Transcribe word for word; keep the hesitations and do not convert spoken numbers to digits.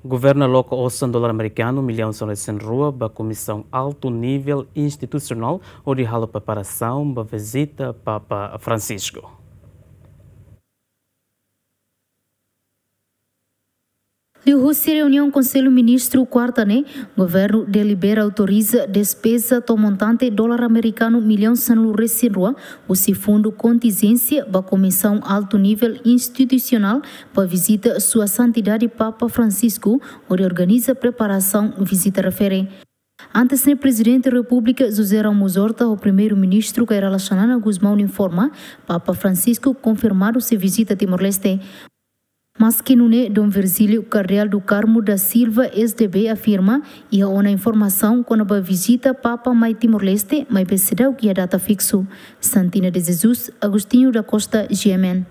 Governu aloka osan dolar amerikanu millaun sanulu-resin-rua ba komisaun altu nivel institusionál hodi halo preparasaun ba vizita Papa Francisco. Liuhusi reuniaun Konsellu Ministru kuarta ne'e, governu delibera autoriza despeza total montante dolar amerikanu millaun sanulu-resin-rua, husi fundu kontinjénsia ba komisaun altu nivel institusionál ba vizita Sua Santidade Papa Francisco, hodi organiza preparasaun vizita refere. Antes ne'e, Prezidente Repúblika José Ramos Horta ho Primeiru-Ministru Kay Rala Xanana Gusmão informa, Papa Francisco konfirmadu sei vizita Timor-Leste. Maski nune'e, Dom Virgílio Kardeál do Carmo da Silva, S D B, afirma iha ona informasaun kona-ba vizita Papa mai Timor-Leste, maibé seidauk iha data fiksu. Santina de Jesus, Agostinho da Costa, G M N.